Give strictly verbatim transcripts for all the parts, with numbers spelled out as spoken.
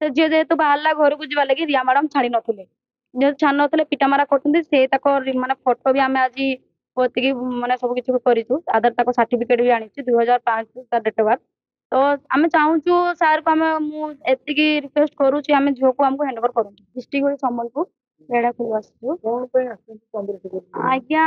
ସେ ଝିଅ ଯେହେତୁ ବାହାରିଲା ଘରକୁ ଯିବା ଲାଗି ରିୟା ମ୍ୟାଡାମ ଛାଡି ନଥିଲେ। ଯେହେତୁ ଛାଡି ନଥିଲେ, ପିଟାମରା କରୁଛନ୍ତି। ସେ ତାଙ୍କ ମାନେ ଫଟୋ ବି ଆମେ ଆଜି ପୋତିକି ମାନେ ସବୁ କିଛି କରିଛୁ। ଆଧାର ତାଙ୍କ ସାର୍ଟିଫିକେଟ ବି ଆଣିଛୁ, ଦୁଇ ହଜାର ପାଞ୍ଚ ତା ଡେଟ୍ ଅଫ୍ ବାର୍ଥ। ତ ଆମେ ଚାହୁଁଛୁ ସାର୍କୁ, ଆମେ ମୁଁ ଏତିକି ରିକ୍ୱେଷ୍ଟ କରୁଛି, ଆମେ ଝିଅକୁ ଆମକୁ ହ୍ୟାଣ୍ଡ ଓଭର କରନ୍ତୁ। ଡିଷ୍ଟ୍ରିକ୍ଟ ହେଉଛି ସମ୍ବଲପୁର, ରେଢ଼ାଖୋଲ ଆସିଛୁ। କଣ ପାଇଁ ଆସିଛନ୍ତି ଚନ୍ଦ୍ରଶେଖର? ଆଜ୍ଞା,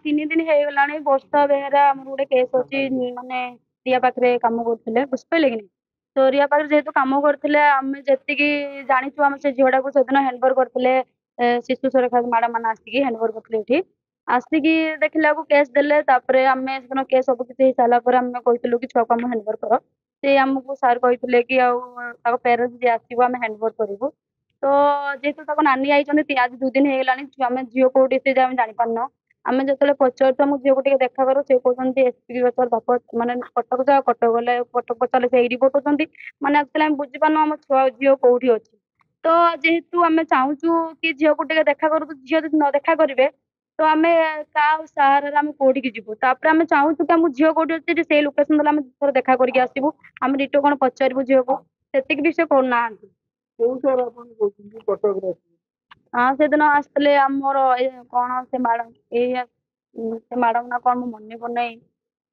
ତିନି ଦିନ ହେଇଗଲାଣି। ବର୍ଷା ବେହେରା, ଆମର ଗୋଟେ କେସ୍ ଅଛି, ମାନେ ରିୟା ପାଖରେ କାମ କରୁଥିଲେ, ବୁଝିପାରିଲେ କି ନାହିଁ? ତ ରିୟା ପାଖରେ ଯେହେତୁ କାମ କରୁଥିଲେ, ଆମେ ଯେତିକି ଜାଣିଛୁ, ଆମେ ସେ ଝିଅଟାକୁ ସେଦିନ ହ୍ୟାଣ୍ଡ ଓଭର କରିଥିଲେ। ଶିଶୁ ସୁରକ୍ଷା ମ୍ୟାଡ଼ାମ ମାନେ ଆସିକି ହ୍ୟାଣ୍ଡ ଓଭର କରିଥିଲେ। ଏଠି ଆସିକି ଦେଖିଲାକୁ କେସ୍ ଦେଲେ। ତାପରେ ଆମେ ସେଦିନ କେସ୍ ସବୁ କିଛି ହେଇସାରିଲା ପରେ ଆମେ କହିଥିଲୁ କି ଛୁଆକୁ ଆମ ହ୍ୟାଣ୍ଡ ଓଭର କର। ସେ ଆମକୁ ସାର୍ କହିଥିଲେ କି ଆଉ ତାଙ୍କ ପ୍ୟାରେଣ୍ଟସ୍ ଯିଏ ଆସିବ ଆମେ ହ୍ୟାଣ୍ଡ ଓଭର କରିବୁ। ତ ଯେହେତୁ ତାଙ୍କ ନାନୀ ଆଇଛନ୍ତି, ଆଜି ଦୁଇ ଦିନ ହେଇଗଲାଣି, ଆମେ ଝିଅ କୋଉଠି ସେ ଆମେ ଜାଣିପାରୁନୁ। ଆମେ ଯେତେବେଳେ ପଚାରୁଛୁ ଆମ ଝିଅକୁ ଟିକେ ଦେଖା କର, ସେ କହୁଛନ୍ତି ଏସ୍ପି ପଚାର, ବାପ ମାନେ କଟକ ଯାଅ। କଟକ ଗଲେ, କଟକ ପଚାରିଲେ ସେ ଏଇ ପଠଉଛନ୍ତି। ମାନେ ଆକ୍ଚୁଆଲି ଆମେ ବୁଝିପାରୁନୁ ଆମ ଛୁଆ ଝିଅ କୋଉଠି ଅଛି। ତ ଯେହେତୁ ଆମେ ଚାହୁଁଛୁ କି ଝିଅକୁ ଟିକେ ଦେଖା କରନ୍ତୁ, ଝିଅ ଯଦି ନ ଦେଖା କରିବେ ତ ଆମେ କାହା ସାହାରାରେ ଆମେ କୋଉଠିକି ଯିବୁ? ତାପରେ ଆମେ ଚାହୁଁଛୁ କି ଆମ ଝିଅ କୋଉଠି ଅଛି, ସେଇ ଲୋକେସନ ଦେଲେ ଆମେ ଥରେ ଦେଖା କରିକି ଆସିବୁ। ଆମେ ଡିଟୋ କଣ ପଚାରିବୁ ଝିଅକୁ, ସେତିକି ବି ସେ କରୁନାହାନ୍ତି। କୋଉ ସାର୍ ଆପଣ କହୁଛନ୍ତି କଟକରେ ଆସିବେ? ହଁ, ସେଦିନ ଆସିଥିଲେ ଆମର ଏ କଣ ସେ ମ୍ୟାଡ଼ାମ, ଏଇ ସେ ମ୍ୟାଡ଼ାମ ନା କଣ ମୁଁ ମନେ ପଡୁନାହିଁ।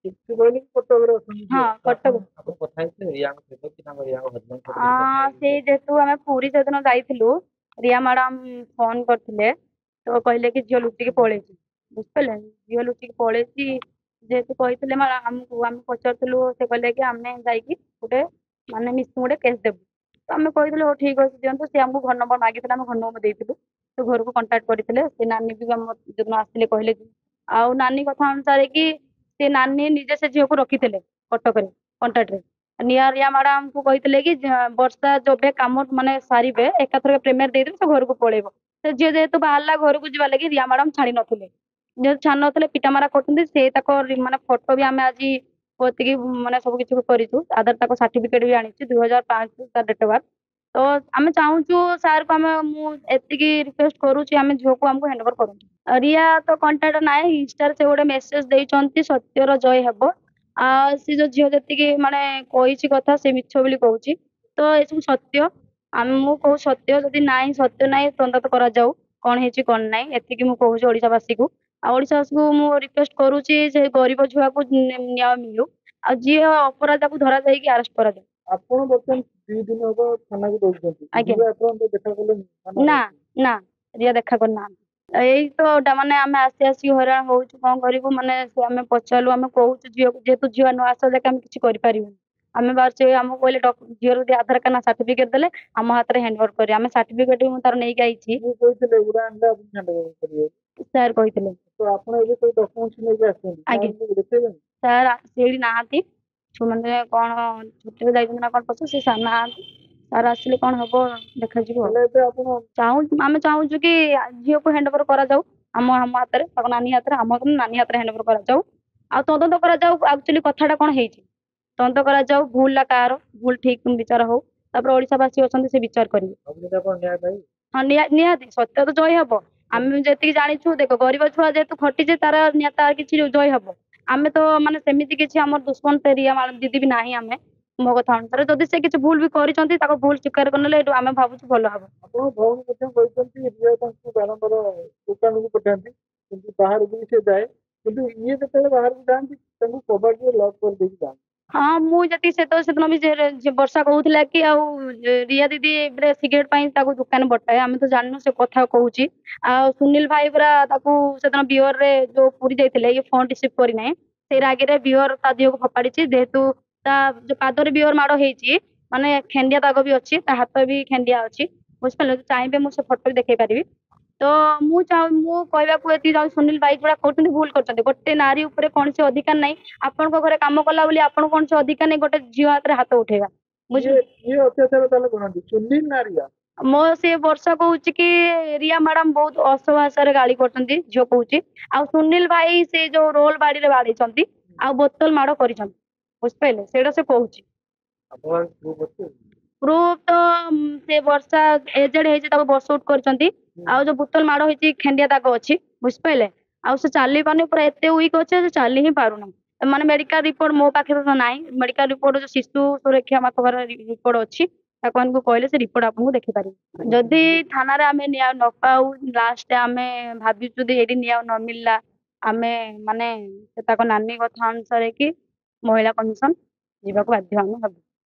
ସେ କହିଲେ କି କଟକରେ ଅଛନ୍ତି ହଁ ଝିଅ। କଟକ। ଆପଣ କଥା ହେଇଥିଲେ ରିୟାଙ୍କ ସହିତ କି ତାଙ୍କ ରିୟାଙ୍କ ହଜବେଣ୍ଡ ସହିତ କିଛି କଥା ହଁ, ହେଇଥିଲେ? ସେଇ ଯେହେତୁ ଆମେ ପୁରୀ ସେଦିନ ଯାଇଥିଲୁ, ରିୟା ମ୍ୟାଡ଼ାମ ଫୋନ କରିଥିଲେ। ତ କହିଲେ କି ଝିଅ ଲୁଚିକି ପଳେଇଛି, ବୁଝିପାରିଲେ? ଝିଅ ଲୁଚିକି ପଳେଇଛି ଯେହେତୁ କହିଥିଲେ ଆମକୁ, ଆମେ ପଚାରୁଥିଲୁ, ସେ କହିଲେ କି ଆମେ ଯାଇକି ଗୋଟେ ମାନେ ମିସିଂ ଗୋଟେ କେସ୍ ଦେବୁ। ତ ଆମେ କହିଥିଲୁ ହଉ ଠିକ ଅଛି, ଦିଅନ୍ତୁ। ସେ ଆମକୁ ଘର ନମ୍ବର ମାଗିଥିଲେ, ଆମେ ଘର ନମ୍ବର ଦେଇଥିଲୁ। ସେ ଘରକୁ କଣ୍ଟାକ୍ଟ କରିଥିଲେ। ସେ ନାନୀ ବି ଆମ ଯୋଉଦିନ ଆସିଥିଲେ କହିଲେ କି, ଆଉ ନାନୀ କଥା ଅନୁସାରେ କି ସେ ନାନୀ ନିଜେ ସେ ଝିଅକୁ ରଖିଥିଲେ କଟକରେ କଣ୍ଟାକ୍ଟରେ। ନିଆ ରିୟା ମ୍ୟାଡ଼ାମକୁ କହିଥିଲେ କି ବର୍ଷା ଯେବେ କାମ ମାନେ ସାରିବେ, ଏକାଥରକେ ପେମେଣ୍ଟ ଦେଇଦେବେ, ସେ ଘରକୁ ପଳେଇବ। ସେ ଝିଅ ଯେହେତୁ ବାହାରିଲା ଘରକୁ ଯିବା ଲାଗି ରିୟା ମ୍ୟାଡ଼ାମ ଛାଡି ନଥିଲେ। ଯେହେତୁ ଛାଡି ନଥିଲେ, ପିଟାମରା କରୁଛନ୍ତି। ସେ ତାଙ୍କ ମାନେ ଫଟୋ ବି ଆମେ ଆଜି ପୋତିକି ମାନେ ସବୁ କିଛି କରିଛୁ। ଆଧାର ତାଙ୍କ ସାର୍ଟିଫିକେଟ ବି ଆଣିଛୁ, ଦୁଇ ହଜାର ପାଞ୍ଚ ତା ଡେଟ୍ ଅଫ୍ ବାର୍ଥ। ତ ଆମେ ଚାହୁଁଛୁ ସାର୍କୁ, ଆମେ ମୁଁ ଏତିକି ରିକ୍ୱେଷ୍ଟ କରୁଛି, ଆମେ ଝିଅକୁ ଆମକୁ ହ୍ୟାଣ୍ଡ ଓଭର କରନ୍ତୁ। ରିୟା ତ କଣ୍ଟାକ୍ଟ ନାହିଁ। ଇନଷ୍ଟାରେ ସେ ଗୋଟେ ମେସେଜ ଦେଇଛନ୍ତି, ସତ୍ୟର ଜୟ ହେବ। ଆଉ ସେ ଯୋଉ ଝିଅ ଯେତିକି ମାନେ କହିଛି କଥା, ସେ ମିଛ ବୋଲି କହୁଛି। ତ ଏସବୁ ସତ୍ୟ ଆମେ ମୁଁ କହୁଛି, ସତ୍ୟ ଯଦି ନାହିଁ, ସତ୍ୟ ନାହିଁ, ତଦନ୍ତ କରାଯାଉ କଣ ହେଇଛି କଣ ନାହିଁ। ଏତିକି ମୁଁ କହୁଛି ଓଡ଼ିଶାବାସୀକୁ। ଆଉ ଓଡ଼ିଶାବାସୀକୁ ମୁଁ ରିକ୍ୱେଷ୍ଟ କରୁଛି, ସେ ଗରିବ ଝିଅକୁ ନ୍ୟାୟ ମିଳୁ ଆଉ ଯିଏ ଅପରାଧକୁ ଧରା ଯାଇକି ଆରେଷ୍ଟ କରାଯାଉ। ଆପଣ ବର୍ତ୍ତମାନ ଦି ଦିନ ହବ ଥାନାକୁ ଦଉଛନ୍ତି? ଆଜ୍ଞା। ରିୟା ଆପଣଙ୍କ ଦେଖା କଲେନି? ନା ନା, ରିୟା ଦେଖା କରିନାହାନ୍ତି। ଏଇ ତ ମାନେ ଆମେ ଆସି ଆସି ହଇରାଣ ହଉଛୁ, କଣ କରିବୁ? ମାନେ ସେ ଆମେ ପଚାରିଲୁ, ଆମେ କହୁଛୁ ଝିଅକୁ, ଯେହେତୁ ଝିଅ ନ ଆସିବା ଯାକେ ଆମେ କିଛି କରିପାରିବୁନି। ଆମେ ବାହାରୁଛୁ, ଆମକୁ କହିଲେ ଝିଅର ଯଦି ଆଧାର କାର୍ଡ ନା ସାର୍ଟିଫିକେଟ ଦେଲେ ଆମ ହାତରେ ହ୍ୟାଣ୍ଡ ଓଭର କରିବେ। ଆମେ ସାର୍ଟିଫିକେଟ ବି ମୁଁ ତାର ନେଇକି ଆଇଛି। କିଏ କହିଥିଲେ ଉଡ଼ା ଆଣିଲେ ଆପଣ ହ୍ୟାଣ୍ଡ ଓଭର କରିବେ? ସାର୍ କହିଥିଲେ। ତ ଆପଣ ଏବେ ସେଇ ଡକ୍ୟୁମେଣ୍ଟସ ନେଇକି ଆସିଛନ୍ତି? ଆଜ୍ଞା। ସାରଙ୍କୁ ଦେଖେଇବେନି? ସାର୍ ସେଇଠି ନାହାନ୍ତି, ମାନେ କଣ ଛୁଟିରେ ଯାଇଛନ୍ତି ନା କଣ ପଛ ସେ ସାର୍ ନାହାନ୍ତି। ସାର୍ ଆସିଲେ କଣ ହବ ଦେଖାଯିବ। ତାହେଲେ ଏବେ ଆପଣ ଚାହୁଁ ଆମେ ଚାହୁଁଛୁ କି ଝିଅକୁ ହ୍ୟାଣ୍ଡ ଓଭର କରାଯାଉ ଆମ ଆମ ହାତରେ, ତାଙ୍କ ନାନୀ ହାତରେ, ଆମ ନାନୀ ହାତରେ ହ୍ୟାଣ୍ଡ ଓଭର କରାଯାଉ ଆଉ ତଦନ୍ତ କରାଯାଉ। ଆକ୍ଚୁଆଲି କଥାଟା କଣ ହେଇଛି ତଦନ୍ତ କରାଯାଉ, ଭୁଲଟା କାହାର, ଭୁଲ ଠିକ ବିଚାର ହଉ। ତାପରେ ଓଡ଼ିଶାବାସୀ ଅଛନ୍ତି, ସେ ବିଚାର କରିବେ। ଭାବୁଛନ୍ତି ଆପଣ ନ୍ୟାୟ ପାଇବେ? ହଁ, ନିହାତି ସତ୍ୟ ତ ଜୟ ହବ। ଆମେ ଯେତିକି ଜାଣିଛୁ, ଦେଖ, ଗରିବ ଛୁଆ ଯେହେତୁ ଖଟିছে, ତାର ତାର କିଛି ଜୟ ହବ। ଆମେ ତ ମାନେ ସେମିତି କିଛି ଆମର ଦୁଶ୍ମନ ସେ ରିୟା ଦିଦି ବି ନାହିଁ। ଆମେ ମୋ କଥା ଅନୁସାରେ ଯଦି ସେ କିଛି ଭୁଲ ବି କରିଛନ୍ତି, ତାକୁ ଭୁଲ ସ୍ୱୀକାର କରିନେଲେ ଏଇଠୁ ଆମେ ଭାବୁଛୁ ଭଲ ହବ। ଆପଣଙ୍କ ଭଉଣୀ ମଧ୍ୟ କହିଛନ୍ତି ରିୟା ତାଙ୍କୁ ବାରମ୍ବାର ଦୋକାନକୁ ପଠାନ୍ତି, କିନ୍ତୁ ବାହାରକୁ ବି ସେ ଯାଏ, କିନ୍ତୁ ଇଏ ଯେତେବେଳେ ବାହାରକୁ ଯାଆନ୍ତି ତାଙ୍କୁ କବାଟରେ ଲକ୍ କରିଦେଇକି ଯାଆନ୍ତି। ହଁ, ମୁଁ ଯେତିକି ସେ ତ ସେଦିନ ବି ବର୍ଷା କହୁଥିଲା କି ଆଉ ରିୟା ଦିଦି ସିଗାରେଟ ପାଇଁ ତାକୁ ଦୋକାନ ପଠାଏ। ଆମେ ତ ଜାଣିନୁ, ସେ କଥା କହୁଛି। ଆଉ ସୁନୀଲ ଭାଇ ପୁରା ତାକୁ ସେଦିନ ବିୟରରେ ଯୋଉ ପୁରୀ ଯାଇଥିଲେ, ଇଏ ଫୋନ ରିସିଭ୍ କରିନାହିଁ, ସେଇ ରାଗରେ ବିୟର ତା ଦେହକୁ ଫୋପାଡ଼ିଛି। ଯେହେତୁ ତା ଯୋଉ ପାଦରେ ବିୟର ମାଡ଼ ହେଇଛି, ମାନେ ଖେଣ୍ଡିଆ ଦାଗ ବି ଅଛି, ତା ହାତ ବି ଖେଣ୍ଡିଆ ଅଛି, ବୁଝିପାରିଲେ? ଚାହିଁବେ ମୁଁ ସେ ଫଟୋ ବି ଦେଖେଇ ପାରିବି। ତ ମୁଁ ଚାହୁଁ ମୁଁ କହିବାକୁ ଏତିକି ଚାହୁଁଛି, ସୁନୀଲ ଭାଇ ଯୋଉଟା କରୁଛନ୍ତି ଭୁଲ କରୁଛନ୍ତି। ଗୋଟେ ନାରୀ ଉପରେ କୌଣସି ଅଧିକାର ନାହିଁ। ଆପଣଙ୍କ ଘରେ କାମ କଲା ବୋଲି ଆପଣଙ୍କୁ କୌଣସି ଅଧିକାର ନାହିଁ ଗୋଟେ ଝିଅ ହାତରେ ହାତ ଉଠେଇବା, ବୁଝିଲେ? କିଏ ଅତ୍ୟାଚାର ତାହେଲେ କରନ୍ତି, ସୁନୀଲ ନା ରିୟା? ମୋ ସେ ବର୍ଷା କହୁଛି କି ରିୟା ମ୍ୟାଡାମ ବହୁତ ଅସଭାଷାରେ ଗାଳି କରୁଛନ୍ତି, ଝିଅ କହୁଛି। ଆଉ ସୁନୀଲ ଭାଇ ସେ ଯୋଉ ରୋଲ ବାଡିରେ ବାଡେଇଛନ୍ତି ଆଉ ବୋତଲ ମାଡ଼ କରିଛନ୍ତି, ବୁଝିପାରିଲେ? ସେଇଟା ସେ କହୁଛି। ପ୍ରୁଫ ତ ସେ ବର୍ଷା ଏଜେଡ ହେଇଛି, ତାକୁ ବସ ଉଠ କରିଛନ୍ତି। ଆଉ ଯୋଉ ବୋତଲ ମାଡ଼ ହେଇଛି, ଖେଣ୍ଡିଆ ଦାଗ ଅଛି, ବୁଝିପାରିଲେ? ଆଉ ସେ ଚାଲି ପାରୁନି, ପୁରା ଏତେ ୱିକ୍ ଅଛି ସେ ଚାଲି ହିଁ ପାରୁନାହିଁ। ମାନେ ମେଡିକାଲ ରିପୋର୍ଟ ମୋ ପାଖରେ ତ ନାହିଁ। ମେଡିକାଲ ରିପୋର୍ଟ ଯୋଉ ଶିଶୁ ସୁରକ୍ଷା ପାଖରେ ରିପୋର୍ଟ ଅଛି, ତାଙ୍କମାନଙ୍କୁ କହିଲେ ସେ ରିପୋର୍ଟ ଆପଣଙ୍କୁ ଦେଖିପାରିବେ। ଯଦି ଥାନାରେ ଆମେ ନ୍ୟାୟ ନ ପାଉ, ଲାଷ୍ଟ ଆମେ ଭାବିଛୁ ଯଦି ଏଇଠି ନ୍ୟାୟ ନ ମିଳିଲା, ଆମେ ମାନେ ସେ ତାଙ୍କ ନାନୀ କଥା ଅନୁସାରେ କି ମହିଳା କମିଶନ ଯିବାକୁ ବାଧ୍ୟ ଆମେ ହେବୁ।